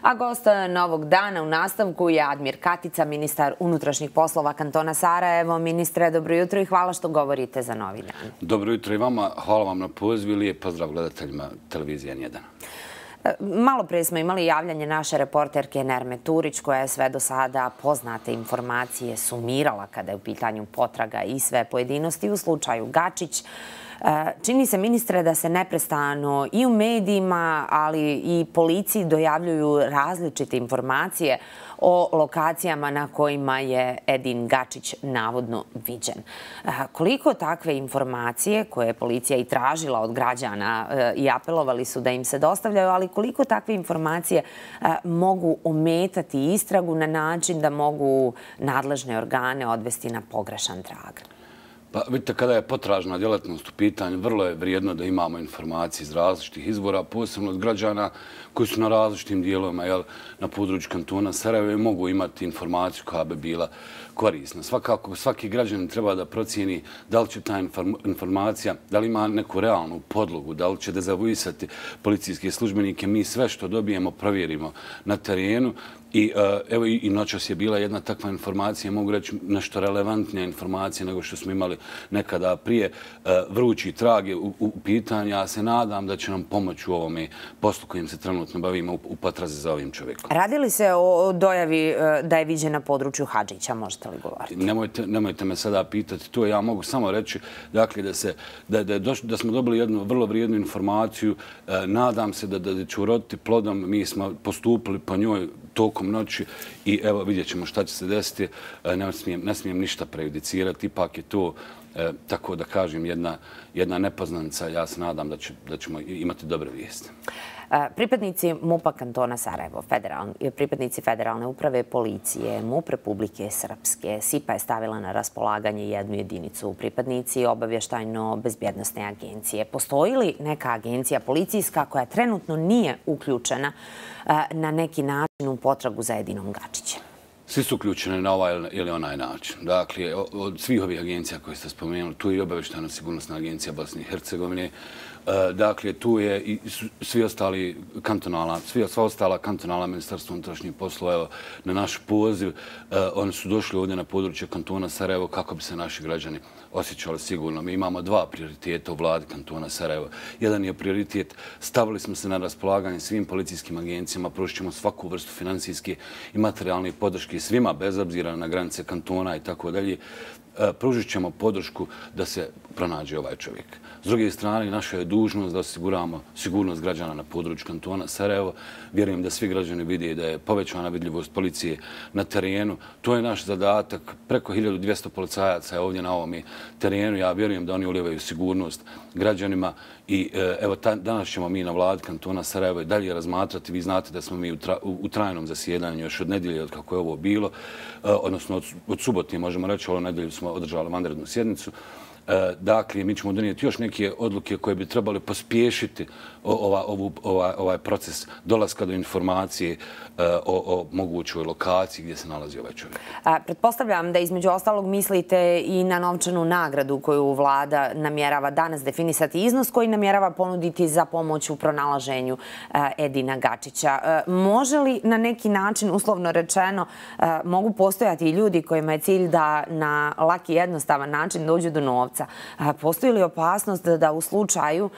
A gost novog dana u nastavku je Admir Katica, ministar unutrašnjih poslova kantona Sarajevo. Ministre, dobro jutro i hvala što govorite za Novi dan. Dobro jutro i vama. Hvala vam na pozivu i lijep pozdrav gledateljima televizije N1. Malo prije smo imali javljanje naše reporterke Nerme Turić, koja je sve do sada poznate informacije sumirala kada je u pitanju potraga i sve pojedinosti u slučaju Gačić. Čini se, ministre, da se neprestano i u medijima, ali i policiji dojavljuju različite informacije o lokacijama na kojima je Edin Gačić navodno viđen. Koliko takve informacije, koje je policija i tražila od građana i apelovali su da im se dostavljaju, ali koliko takve informacije mogu ometati istragu na način da mogu nadležne organe odvesti na pogrešan trag? Pa vidite, kada je potražna djelatnost u pitanju, vrlo je vrijedno da imamo informacije iz različitih izvora, posebno od građana koji su na različitim dijelovima na području kantona Sarajevo i mogu imati informaciju koja bi bila korisna. Svakako, svaki građanin treba da procijeni da li će ta informacija, da li ima neku realnu podlogu, da li će dezavuisati policijske službenike. Mi sve što dobijemo provjerimo na terenu. I evo i noćas je bila jedna takva informacija, mogu reći nešto relevantnija informacija nego što smo imali nekada prije. Vrući trag je u pitanju. Ja se nadam da će nam pomoći u ovome poslu kojim se trenutno bavimo u potrazi za ovim čovjekom. Radi li se o dojavi da je viđen na području Hadžića, možete li govoriti? Nemojte me sada pitati to. Ja mogu samo reći dakle, da smo dobili jednu vrlo vrijednu informaciju. Nadam se da će uroditi plodom. Mi smo postupili po njoj tokom noći i evo vidjet ćemo šta će se desiti. Ne smijem ništa prejudicirati. Ipak je to, tako da kažem, jedna nepoznanica. Ja se nadam da ćemo imati dobre vijesti. Pripadnici MUP-a kantona Sarajevo, pripadnici Federalne uprave policije, MUP Republike Srpske, SIPA je stavila na raspolaganje jednu jedinicu. Pripadnici obavještajno-bezbjednosne agencije. Postoji li neka agencija policijska koja trenutno nije uključena na neki način u potragu za Edinom Gačićem? Svi su uključeni na ovaj ili onaj način. Dakle, od svih ovih agencija koje ste spomenuli, tu je i obavještajno-sigurnosna agencija Bosne i Hercegovine. Dakle, tu je i sva ostala kantonalna ministarstva unutrašnjih poslova. Evo, na naš poziv, oni su došli ovdje na područje kantona Sarajevo kako bi se naši građani osjećali sigurno. Mi imamo dva prioriteta u vladi kantona Sarajevo. Jedan je prioritet, stavili smo se na raspolaganje svim policijskim agencijama, pružit ćemo svaku vrstu financijske i materijalne podrške svima, bez obzira na granice kantona i tako dalje. Pružit ćemo podršku da se pronađe ovaj čovjek. S druge strane, naša je dužnost da osiguramo sigurnost građana na području kantona Sarajevo. Vjerujem da svi građani vide da je povećana vidljivost policije na terenu. To je naš zadatak. Preko 1200 policajaca je ovdje na ovom terenu. Ja vjerujem da oni ulivaju sigurnost građanima. I evo, danas ćemo mi na vladi kantona Sarajevo i dalje razmatrati. Vi znate da smo mi u trajnom zasjedanju još od nedelje, od kako je ovo bilo, odnosno od subote, možemo reći, ovo nedelju smo održali vanrednu sjednicu. Dakle, mi ćemo donijeti još neke odluke koje bi trebali pospješiti ovaj proces dolaska do informacije o mogućoj lokaciji gdje se nalazi ovaj čovjek. Pretpostavljam da između ostalog mislite i na novčanu nagradu koju vlada namjerava danas definisati, iznos koji namjerava ponuditi za pomoć u pronalaženju Edina Gačića. Može li na neki način, uslovno rečeno, mogu postojati i ljudi kojima je cilj da na laki i jednostavan način dođu do novca? Postoji li opasnost da u slučaju,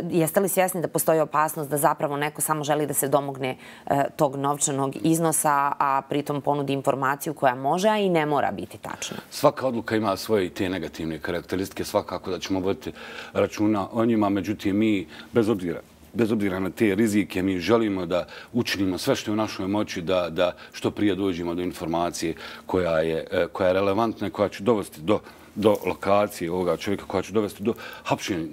jeste li svjesni da postoji opasnost da zapravo neko samo želi da se domogne tog novčanog iznosa, a pritom ponudi informaciju koja može, a i ne mora biti tačna? Svaka odluka ima svoje i te negativne karakteristike. Svakako da ćemo voditi računa o njima. Međutim, mi bez obzira na te rizike, mi želimo da učinimo sve što je u našoj moći da što prije dođemo do informacije koja je relevantna i koja će dovesti do lokacije ovoga čovjeka, koja će dovesti do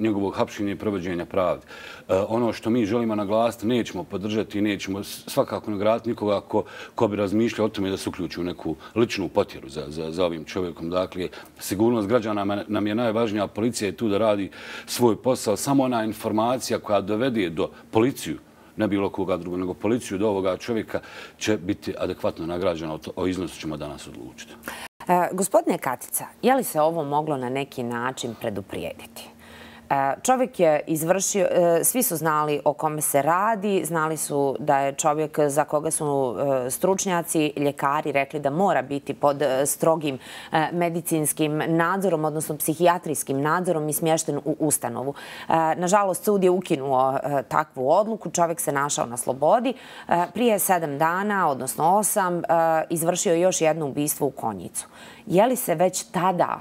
njegovog hapšenja i provođenja pravde. Ono što mi želimo naglasiti, nećemo podržati i nećemo svakako nagraditi nikoga ko bi razmišljao o tome da se uključi u neku ličnu potjeru za ovim čovjekom. Dakle, sigurnost građana nam je najvažnija, policija je tu da radi svoj posao. Samo ona informacija koja dovede do policiju, ne bilo koga drugo, nego policiju do ovoga čovjeka će biti adekvatno nagrađena. O iznosu ćemo danas odlučiti. Gospodine Katica, je li se ovo moglo na neki način preduprijediti? Čovjek je izvršio, svi su znali o kome se radi, znali su da je čovjek za koga su stručnjaci, ljekari rekli da mora biti pod strogim medicinskim nadzorom, odnosno psihijatrijskim nadzorom i smješten u ustanovu. Nažalost, sud je ukinuo takvu odluku, čovjek se našao na slobodi. Prije 7 dana, odnosno 8, izvršio je još jedno ubistvo u Konjicu. Je li se već tada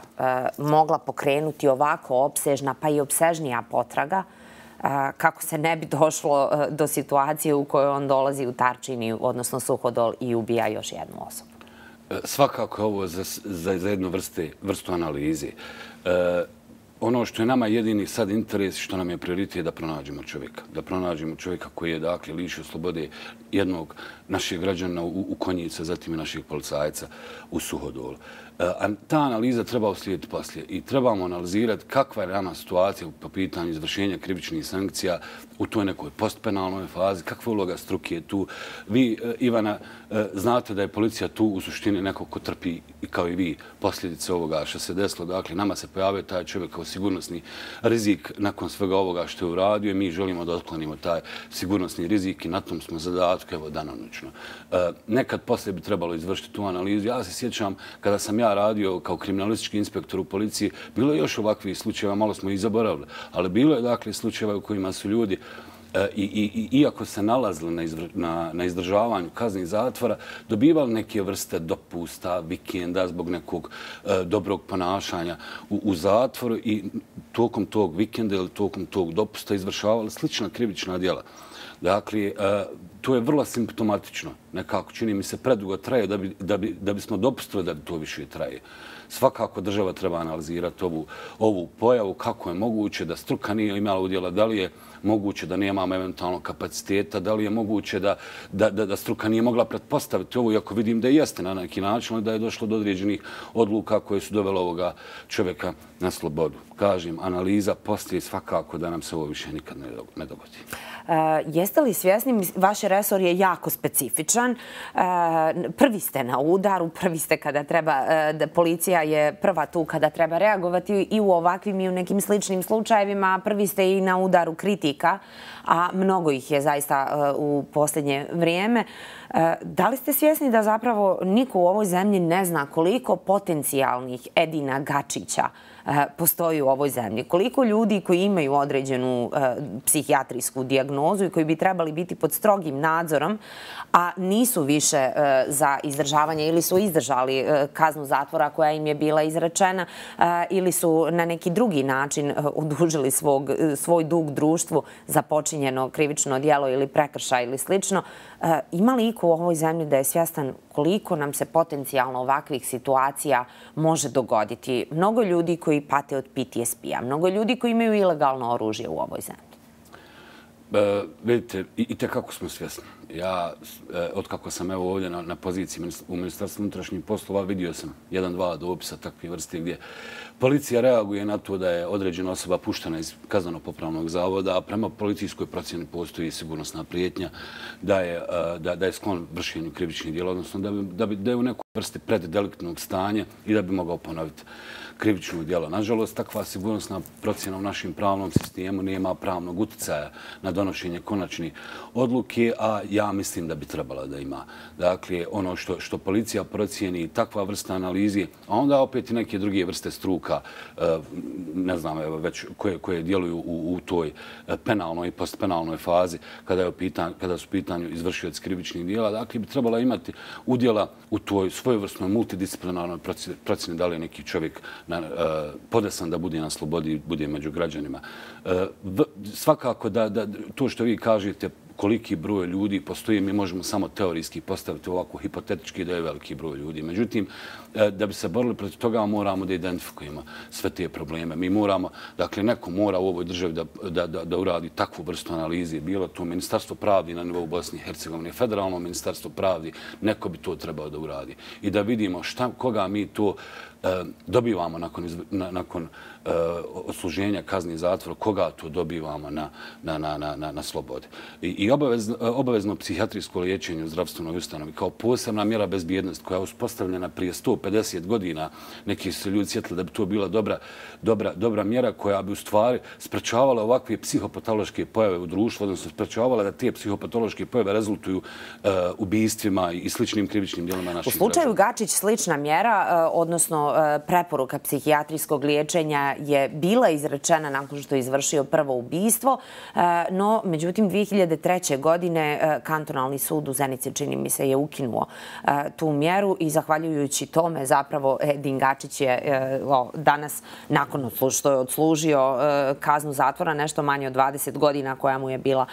mogla pokrenuti ovako opsežna, pa i opsežnija potraga, kako se ne bi došlo do situacije u kojoj on dolazi u Tarčini, odnosno Suhodol, i ubija još jednu osobu? Svakako je ovo za jednu vrstu analize. Ono što je nama jedini sad interes, što nam je prioritet, je da pronađemo čovjeka. Da pronađemo čovjeka koji je, dakle, lišio slobode jednog našeg građana u Konjicu, zatim i našeg policajca u Suhodolu. A ta analiza treba uslijediti poslije i trebamo analizirati kakva je nama situacija po pitanju izvršenja krivičnih sankcija u toj nekoj postpenalnoj fazi, kakva je uloga struke tu. Vi, Ivana, znate da je policija tu u suštini neko ko trpi, kao i vi, posljedice ovoga što se desilo. Dakle, nama se pojavio taj čovjek kao sigurnosni rizik nakon svega ovoga što je uradio i mi želimo da otklonimo taj sigurnosni rizik i na tom smo zadatku, evo, danonoćno. Nekad poslije bi trebalo izvršiti tu analizu. Ja se sjećam, kada sam ja radio kao kriminalistički inspektor u policiji, bilo je još ovakvih slučajeva, malo smo ih zaboravili, ali bilo je, dakle, slučajeva u kojima su ljudi iako se nalazili na izdržavanju kazne zatvora, dobivali neke vrste dopusta, vikenda zbog nekog dobrog ponašanja u zatvoru i tokom tog vikenda ili tokom tog dopusta izvršavali slična krivična djela. Dakle, to je vrlo simptomatično. Nekako, čini mi se, predugo traje da bismo dopustili da to više traje. Svakako država treba analizirati ovu pojavu, kako je moguće da struka nije imala udjela, da li je moguće da nemamo eventualno kapaciteta, da li je moguće da struka nije mogla pretpostaviti ovo, iako vidim da jeste na neki način, ali da je došlo do određenih odluka koje su dovele ovoga čovjeka na slobodu. Kažem, analiza poslije svakako da nam se ovo više nikad ne dogodi. Jeste li svjesni, vaš resor je jako specifičan, prvi ste na udaru, prvi ste kada treba, policija je prva tu kada treba reagovati i u ovakvim i u nekim sličnim slučajevima, prvi ste i na udaru kritika, a mnogo ih je zaista u posljednje vrijeme. Da li ste svjesni da zapravo niko u ovoj zemlji ne zna koliko potencijalnih Edina Gačića postoji u ovoj zemlji? Koliko ljudi koji imaju određenu psihijatrijsku dijagnozu i koji bi trebali biti pod strogim nadzorom, a nisu više za izdržavanje ili su izdržali kaznu zatvora koja im je bila izrečena ili su na neki drugi način odužili svoj dug društvu za počinjeno krivično djelo ili prekršaj ili slično. Ima li iko u ovoj zemlji da je svjestan koliko nam se potencijalno ovakvih situacija može dogoditi? Mnogo ljudi koji pate od PTSP-a, mnogo ljudi koji imaju ilegalno oružje u ovoj zemlji. Vidite, i tekako smo svjesni. Ja, otkako sam evo ovdje na poziciji u Ministarstvu unutrašnjih poslova, vidio sam 1-2 dopisa takve vrste gdje policija reaguje na to da je određena osoba puštena iz kazneno-popravnog zavoda, a prema policijskoj procjeni postoji sigurnosna prijetnja da je sklon vršenju krivičnih djela, odnosno da je u nekoj vrsti preddeliktnog stanja i da bi mogao ponoviti krivičnog djela. Nažalost, takva sigurnosna procjena u našem pravnom sistemu nema pravnog utjecaja na donošenje konačne odluke, a ja mislim da bi trebala da ima. Dakle, ono što policija procijeni, takva vrsta analize, a onda opet i neke druge vrste struka, ne znam, već koje djeluju u toj penalnoj i postpenalnoj fazi kada su u pitanju izvršioci krivičnih djela, dakle, bi trebala imati udjela u toj svojevrsnoj multidisciplinarnoj procjeni da li je neki čovjek podesan da bude na slobodi, bude među građanima. Svakako da to što vi kažete, koliki broj ljudi postoji, mi možemo samo teorijski postaviti ovako hipotetički da je veliki broj ljudi. Međutim, da bi se borili protiv toga, moramo da identifikujemo sve te probleme. Mi moramo, dakle, neko mora u ovoj državi da uradi takvu vrstu analize. Bilo to Ministarstvo pravdi na nivou Bosne i Hercegovine, Federalno Ministarstvo pravdi, neko bi to trebao da uradi. I da vidimo koga mi to dobivamo nakon odsluženja kazni zatvora, koga to dobivamo na slobodi. I obavezno psihijatrijsko liječenje u zdravstvenoj ustanovi kao posebna mjera bezbjednosti koja je uspostavljena prije 150 godina. Neki su ljudi sjetili da bi to bila dobra mjera koja bi u stvari sprečavala ovakve psihopatološke pojave u društvu, odnosno sprečavala da te psihopatološke pojave rezultuju ubijstvima i sličnim krivičnim djelima naših građana. U slučaju Gačić slična mjera, odnosno preporuka psihijatrijskog liječenja je bila izrečena nakon što je izvršio prvo ubijstvo, no međutim 2003. godine kantonalni sud u Zenici, čini mi se, je ukinuo tu mjeru i zahvaljujući tome zapravo Edin Gačić je danas, nakon što je odslužio kaznu zatvora, nešto manje od 20 godina koja mu je bila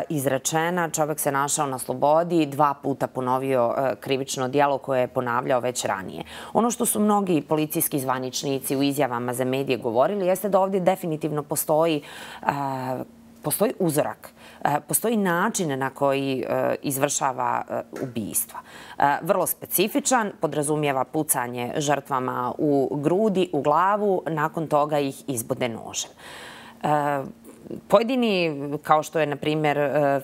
izrečena, čovjek se našao na slobodi, 2 puta ponovio krivično djelo koje je ponavljao već ranije. Ono što su mnogi policijski zvaničnici u izjavama za medije govorili jeste da ovdje definitivno postoji uzorak, postoji način na koji izvršava ubijstva. Vrlo specifičan, podrazumijeva pucanje žrtvama u grudi, u glavu, nakon toga ih izbode nožem. Pojedini, kao što je, na primjer,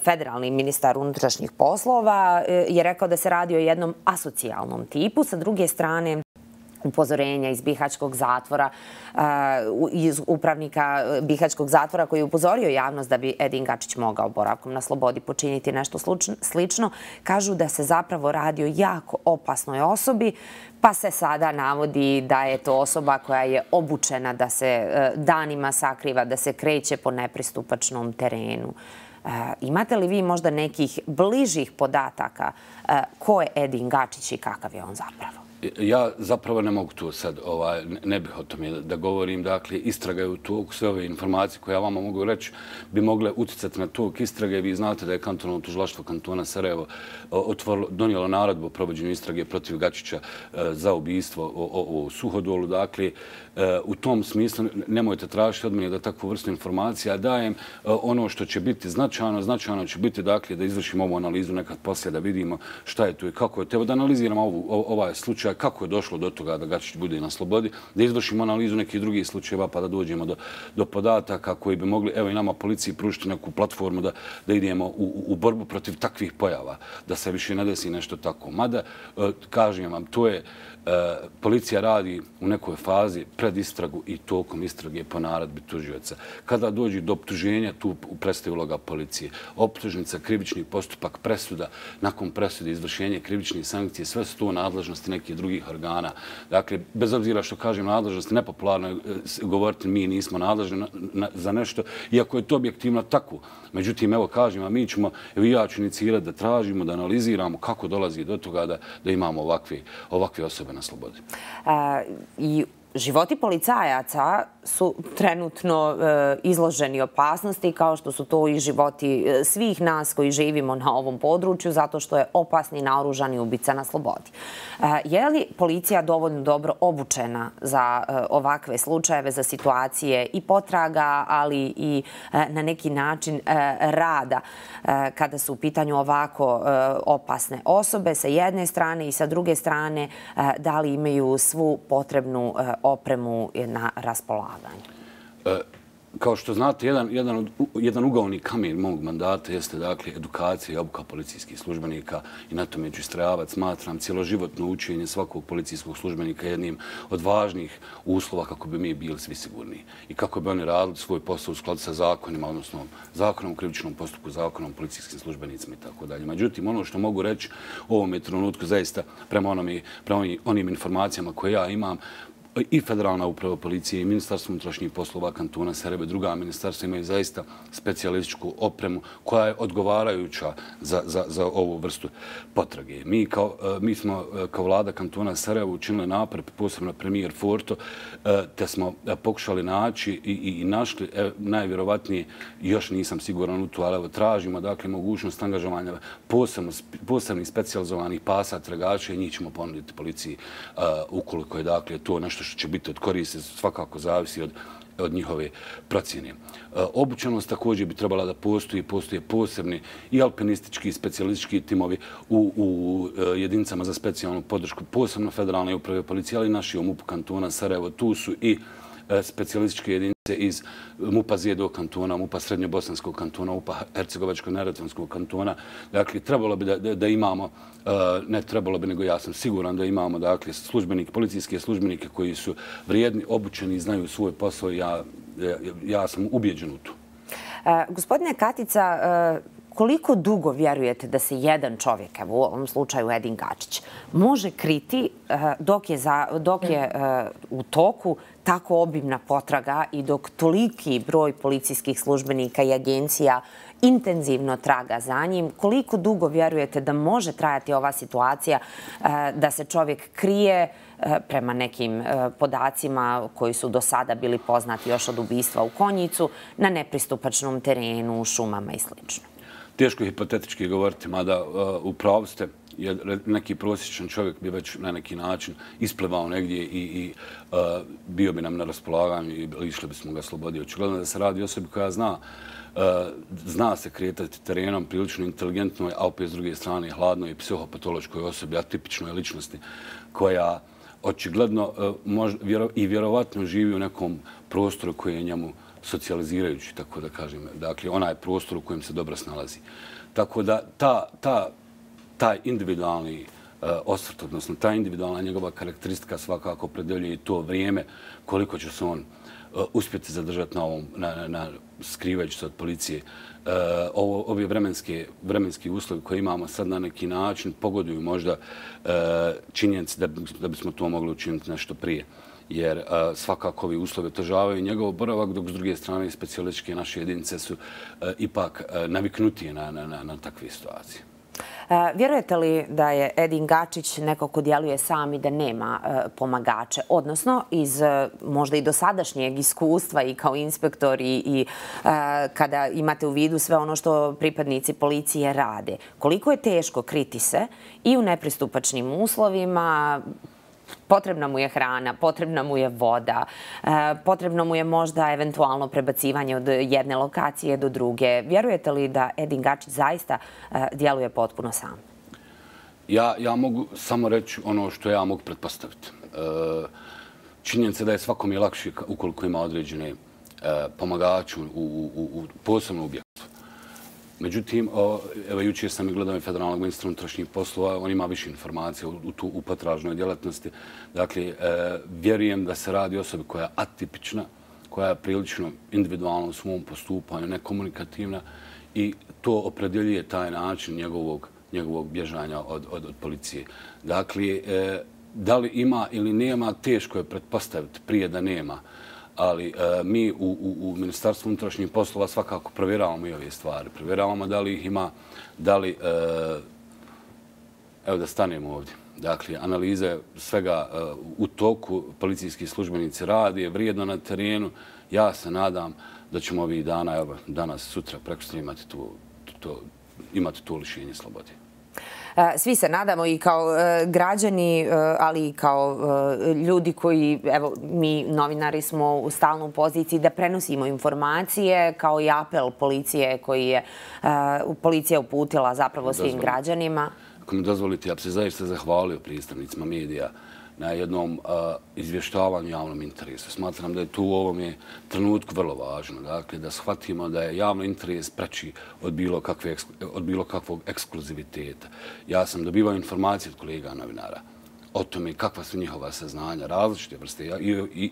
federalni ministar unutrašnjih poslova, je rekao da se radi o jednom asocijalnom tipu. Sa druge strane, upozorenja iz Bihaćkog zatvora, iz upravnika Bihaćkog zatvora koji je upozorio javnost da bi Edin Gačić mogao boravkom na slobodi počiniti nešto slično, kažu da se zapravo radi o jako opasnoj osobi, pa se sada navodi da je to osoba koja je obučena da se danima sakriva, da se kreće po nepristupačnom terenu. Imate li vi možda nekih bližih podataka ko je Edin Gačić i kakav je on zapravo? Ja zapravo ne mogu to sad, ne bih o tome da govorim. Dakle, istraga je u toku. Sve ove informacije koje ja vama mogu reći bi mogle utjecati na tok istrage. Vi znate da je kantonalno tužilaštvo kantona Sarajevo donijelo naredbu o provođenju istrage protiv Gačića za ubijstvo u Suhodolu. Dakle, u tom smislu nemojte tražiti od mene da takvu vrstu informacija dajem. Ono što će biti značajno će biti dakle da izvršimo ovu analizu nekad poslije da vidimo šta je tu i kako je. Evo da analiziramo ovaj slučaj, kako je došlo do toga da Gačić bude na slobodi, da izvršimo analizu nekih drugih slučajeva pa da dođemo do podataka koji bi mogli, evo i nama policiji, pružiti neku platformu da idemo u borbu protiv takvih pojava, da se više ne desi nešto tako. Mada, kažem vam, to je policija radi u nekoj fazi pred istragu i tokom istrage po naredbi tužioca. Kada dođe do optuženja, tu prestaje uloga policije. Optužnica, krivični postupak, presuda, nakon presude izvršenje krivičnih sankcije, sve su to nadležnosti nekih drugih organa. Dakle, bez obzira što kažem nadležnosti, nepopularno je govoriti mi nismo nadležni za nešto, iako je to objektivno tako. Međutim, evo kažem, a mi ćemo, evo i ja ću inicirati da tražimo, da analiziramo kako dolazi do toga da imamo ovakve osobe na slobodi. I životi policajaca su trenutno izloženi opasnosti, kao što su to i životi svih nas koji živimo na ovom području, zato što je opasni naoružani ubica na slobodi. Je li policija dovoljno dobro obučena za ovakve slučajeve, za situacije i potraga, ali i na neki način rada kada su u pitanju ovako opasne osobe sa jedne strane i sa druge strane, da li imaju svu potrebnu opremu na raspolaganju? Kao što znate, jedan ugaoni kamen mog mandata jeste dakle edukacija i obuka policijskih službenika i na tome ću istrajavati. Smatram cijeloživotno učenje svakog policijskog službenika jednim od važnih uslova kako bi mi bili svi sigurniji i kako bi oni radili svoj posao u skladu sa zakonima, odnosno zakonom o krivičnom postupku, zakonom o policijskim službenicima i tako dalje. Međutim, ono što mogu reći u ovom trenutku zaista prema onim informacijama koje ja imam, i Federalna uprava policije i Ministarstvo unutrašnjih poslova kantona Sarajevo i druga ministarstva imaju zaista specijalističku opremu koja je odgovarajuća za ovu vrstu potrage. Mi smo kao vlada kantona Sarajevo učinili napor, posebno premijer Forto, te smo pokušali naći i našli, najvjerovatnije, još nisam siguran u to, ali evo tražimo dakle mogućnost angažovanja posebnih specijalizovanih pasa, tragača i njih ćemo ponuditi policiji ukoliko je dakle to nešto što će biti od koriste, svakako zavisi od njihove procjene. Obučenost također bi trebala da postoje posebni i alpinistički i specijalistički timovi u jedinicama za specijalnu podršku, posebno federalne uprave policije, ali i naši u MUP kantona Sarajevo. Tu su i specijalističke jedinice iz MUP-a Zijedog kantona, MUP-a Srednjobosanskog kantona, MUP-a Hercegovačko-neretvanskog kantona. Dakle, trebalo bi da imamo, ne trebalo bi, nego ja sam siguran da imamo, dakle, policijske službenike koji su vrijedni, obučeni i znaju svoj posao. Ja sam ubijeđen u to. Gospodine Katica, koliko dugo vjerujete da se jedan čovjek, evo u ovom slučaju Edin Gačić, može kriti dok je u toku tako obimna potraga i dok toliki broj policijskih službenika i agencija intenzivno traga za njim? Koliko dugo vjerujete da može trajati ova situacija da se čovjek krije prema nekim podacima koji su do sada bili poznati još od ubistva u Konjicu na nepristupačnom terenu, šumama i sl.? Teško je hipotetički govoriti, mada u pravu ste, jer neki prosječan čovjek bi već na neki način isplivao negdje i bio bi nam na raspolaganju i išli bismo ga slobodi. Očigledno da se radi o osobi koja zna se kretati terenom, prilično inteligentnoj, a opet s druge strane hladnoj i psihopatološkoj osobi, atipičnoj ličnosti, koja očigledno i vjerovatno živi u nekom prostoru koji je njemu socijalizirajući, tako da kažem. Dakle, onaj prostor u kojem se dobro snalazi. Tako da taj individualni osvrt, odnosno ta individualna njegova karakteristika svakako opredeljuje i to vrijeme koliko će se on uspjeti zadržati skrivajući se od policije. Ovi vremenski uslovi koje imamo sad na neki način pogoduju možda činjenici da bismo to mogli učiniti nešto prije. Jer svakako ovi uslovi otežavaju njegov boravak, dok s druge strane specijalističke naše jedinice su ipak naviknutije na takve situacije. Vjerujete li da je Edin Gačić neko ko djeluje sam i da nema pomagače? Odnosno, iz možda i dosadašnjeg iskustva i kao inspektor i kada imate u vidu sve ono što pripadnici policije rade, koliko je teško kriti se i u nepristupačnim uslovima? Potrebna mu je hrana, potrebna mu je voda, potrebno mu je možda eventualno prebacivanje od jedne lokacije do druge. Vjerujete li da Edin Gačić zaista djeluje potpuno sam? Ja mogu samo reći ono što ja mogu pretpostaviti. Činjenica da je svakom je lakše ukoliko ima određene pomagače posebno u objektu. Međutim, evo jučer sam i gledao i federalnog ministra unutrašnjih poslova, on ima više informacija u potražnoj djelatnosti. Dakle, vjerujem da se radi o osobi koja je atipična, koja je prilično individualna u svom postupanju, nekomunikativna i to opredjeljuje taj način njegovog bježanja od policije. Dakle, da li ima ili nema, teško je pretpostaviti prije da nema. Ali mi u Ministarstvu unutrašnjih poslova svakako provjeravamo i ove stvari. Provjeravamo da li ih ima, da li... Evo da stanemo ovdje. Dakle, analiza svega u toku, policijski službenici radi, vrijedno na terenu. Ja se nadam da ćemo ovih dana, evo danas, sutra, prekosutra imati to lišenje slobode. Svi se nadamo i kao građani, ali i kao ljudi koji, evo, mi novinari smo u stalnoj poziciji da prenosimo informacije, kao i apel policije koji je policija uputila zapravo svim građanima. Ako mi dozvolite, ja bi se zaista zahvalio predstavnicima medija na jednom izvještavanju javnom interesu. Smatram da je tu u ovom trenutku vrlo važno. Dakle, da shvatimo da je javni interes preči od bilo kakvog ekskluziviteta. Ja sam dobivao informacije od kolega novinara o tome kakva su njihova saznanja, različite vrste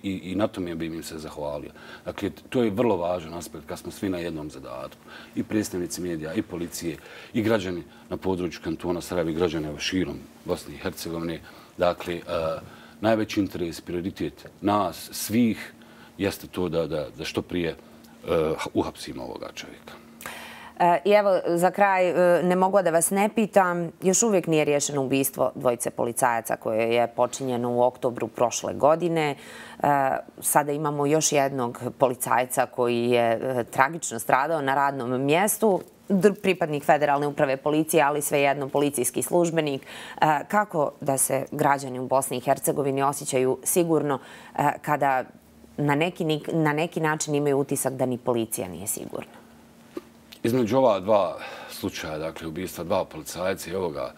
i na tome bi im se zahvalio. Dakle, to je vrlo važan aspekt kad smo svi na jednom zadatku. I predstavnici medija, i policije, i građani na području kantona Sarajevo, i građani širom Bosne i Hercegovine. Dakle, najveći interes, prioritet nas, svih, jeste to da što prije uhapsimo ovoga čovjeka. I evo, za kraj, ne mogu da vas ne pitam, još uvijek nije riješeno ubistvo dvojice policajaca koje je počinjeno u oktobru prošle godine. Sada imamo još jednog policajca koji je tragično stradao na radnom mjestu, pripadnik Federalne uprave policije, ali svejedno policijski službenik. Kako da se građani u Bosni i Hercegovini osjećaju sigurno kada na neki način imaju utisak da ni policija nije sigurna? Između ova dva slučaja, dakle ubistva dva policajca i ovoga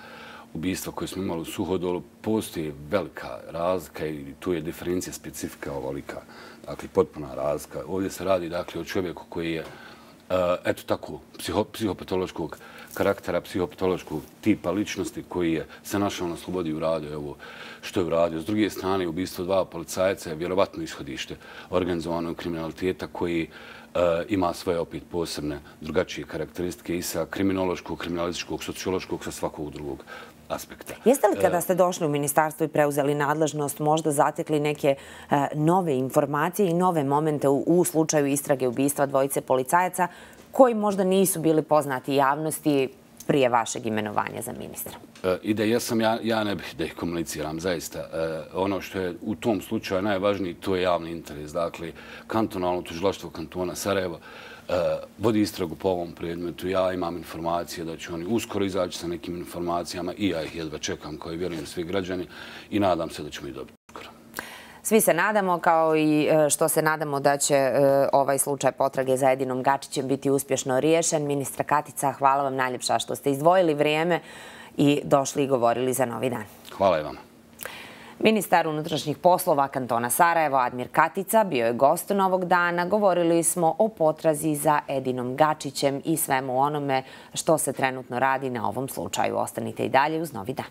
ubistva koje smo imali u Suhodolu, postoji velika razlika i tu je diferencija specifika ovolika. Dakle, potpuna razlika. Ovdje se radi dakle o čovjeku koji je eto tako, psihopatološkog karaktera, psihopatološkog tipa ličnosti koji je se našao na slobodi u radu, evo što je uradio. S druge strane, ubistvo dva policajca je vjerovatno ishodište organizovanog kriminaliteta koji ima svoje opet posebne drugačije karakteristike i sa kriminološkog, kriminalističkog, sociološkog, sa svakog drugog aspekta. Jeste li kada ste došli u ministarstvo i preuzeli nadležnost možda zatekli neke nove informacije i nove momente u slučaju istrage ubistva dvojice policajaca koji možda nisu bili poznati javnosti prije vašeg imenovanja za ministra? I da jesam, ja ne bih da ih komuniciram, zaista. Ono što je u tom slučaju najvažniji, to je javni interes. Dakle, kantonalno tužilaštvo kantona Sarajevo vodi istragu po ovom predmetu. Ja imam informacije da će oni uskoro izaći sa nekim informacijama i ja ih jedva čekam, kao i vjerujem svi građani, i nadam se da ćemo ih dobiti uskoro. Svi se nadamo, kao i što se nadamo da će ovaj slučaj potrage za Edinom Gačićem biti uspješno riješen. Ministra Katica, hvala vam najljepša što ste izdvojili vrijeme i došli i govorili za Novi dan. Hvala i vama. Ministar unutrašnjih poslova kantona Sarajevo, Admir Katica, bio je gost Novog dana. Govorili smo o potrazi za Edinom Gačićem i svemu onome što se trenutno radi na ovom slučaju. Ostanite i dalje uz Novi dan.